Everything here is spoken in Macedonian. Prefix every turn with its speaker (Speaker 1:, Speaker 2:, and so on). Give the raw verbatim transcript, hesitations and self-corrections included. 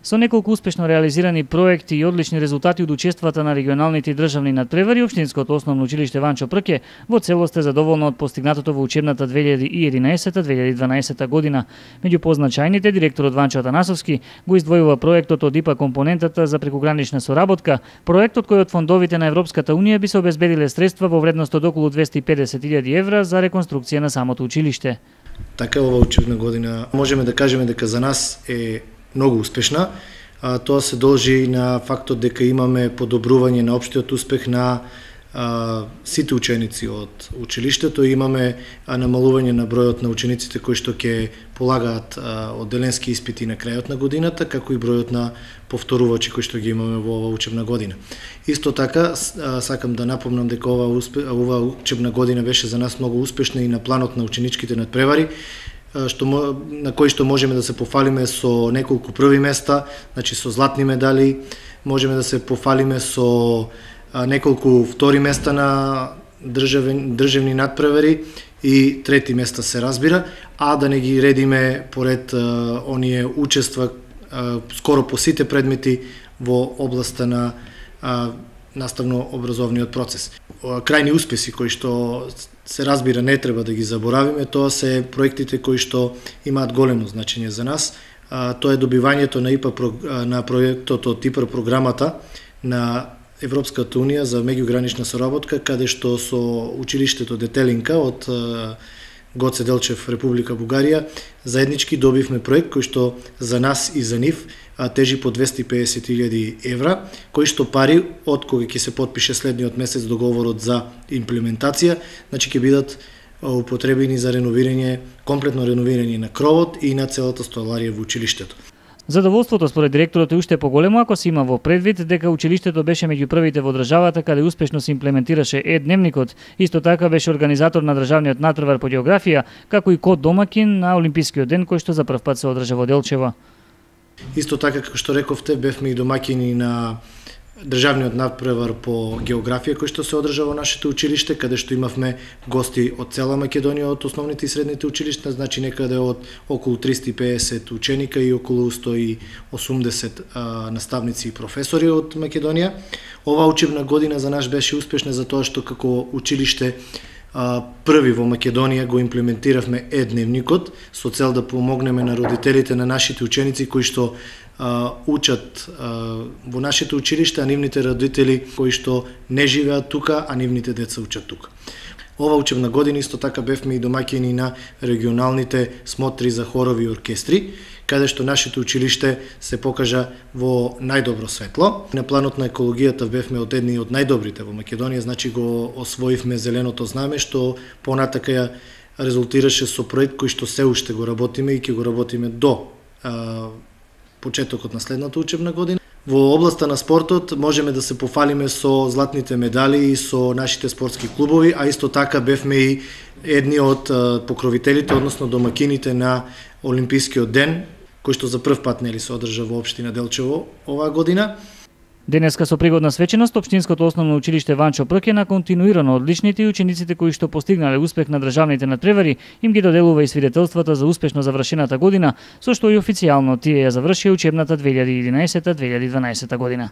Speaker 1: Со неколку успешно реализирани проекти и одлични резултати од учествата на регионалните и државни надпревари, Општинското основно училиште Ванчо Прке во целост е задоволно од постигнатото во учебната две илјади и единаесета две илјади и дванаесета година. Меѓу позначајните, директорот Ванчо Атанасовски го издвојува проектот од ИПА компонентата за прекугранична соработка, проектот кој од фондовите на Европската унија би се обезбедиле средства во вредност од околу двесте и педесет илјади евра за реконструкција на самото училиште.
Speaker 2: Така ова учебна година можеме да кажеме дека за нас е многу успешна. А, тоа се должи на фактот дека имаме подобрување на општиот успех на а, сите ученици од училиштето. Имаме а, намалување на бројот на учениците кои што ќе полагаат а, одделенски испити на крајот на годината, како и бројот на повторувачи кои што ги имаме во оваа учебна година. Исто така, а, сакам да напомнам дека ова, успе, ова учебна година беше за нас многу успешна и на планот на ученичките надпревари, што на кои што можеме да се пофалиме со неколку први места, значи со златни медали, можеме да се пофалиме со неколку втори места на државни, државни надпревари и трети места се разбира, а да не ги редиме поред а, оние учества а, скоро по сите предмети во областа на а, наставно-образовниот процес. Крајни успеси кои што се разбира не треба да ги заборавиме, тоа се проектите кои што имаат големо значење за нас. Тоа е добивањето на ИПА на проектот од ИПА програмата на Европската унија за меѓугранична соработка, каде што со училиштето Детелинка од Гоце Делчев, Република Бугарија, заеднички добивме проект кој што за нас и за нив тежи по двесте и педесет илјади евра, кои што пари од кога ќе се потпише следниот месец договорот за имплементација, значи ќе бидат употребени за реновирање, комплетно реновирање на кровот и на целата столарија во училиштето.
Speaker 1: Задоволството според директорот е уште поголемо ако се има во предвид дека училиштето беше меѓу првите во државата каде успешно се имплементираше е-дневникот. Исто така беше организатор на државниот надпревар по географија, како и код домакин на Олимпискиот ден кој што за прв пат се одржа во Делчево.
Speaker 2: Исто така, како што рековте, бевме и домакини на државниот надпревар по географија кој што се одржа во нашето училиште, каде што имавме гости од цела Македонија, од основните и средните училишта, значи некаде од околу триста и педесет ученика и околу сто и осумдесет а, наставници и професори од Македонија. Оваа учебна година за нас беше успешна за тоа што како училиште а, први во Македонија го имплементиравме е-дневникот со цел да помогнеме на родителите на нашите ученици кои што Uh, учат uh, во нашите училишта, а нивните родители кои што не живеат тука, а нивните деца учат тука. Ова учебна година исто така бевме и домаќини на регионалните смотри за хорови и оркестри, каде што нашето училиште се покажа во најдобро светло. На планот на екологијата бевме од едни од најдобрите во Македонија, значи го освоивме зеленото знаме, што понатака ја резултираше со проект кој што се уште го работиме и ќе го работиме до uh, почетокот на следната учебна година. Во областа на спортот можеме да се пофалиме со златните медали и со нашите спортски клубови, а исто така бевме и едни од покровителите, односно домакините на Олимпискиот ден, кој што за прв пат нели се одржа во општина Делчево оваа година.
Speaker 1: Денеска со пригодна свеченост Општинското основно училиште Ванчо Прке на континуирано одличните и учениците кои што постигнале успех на државните надпревари им ги доделува и свидетелствата за успешно завршената година, со што и официјално тие ја завршија учебната две илјади и единаесета две илјади и дванаесета година.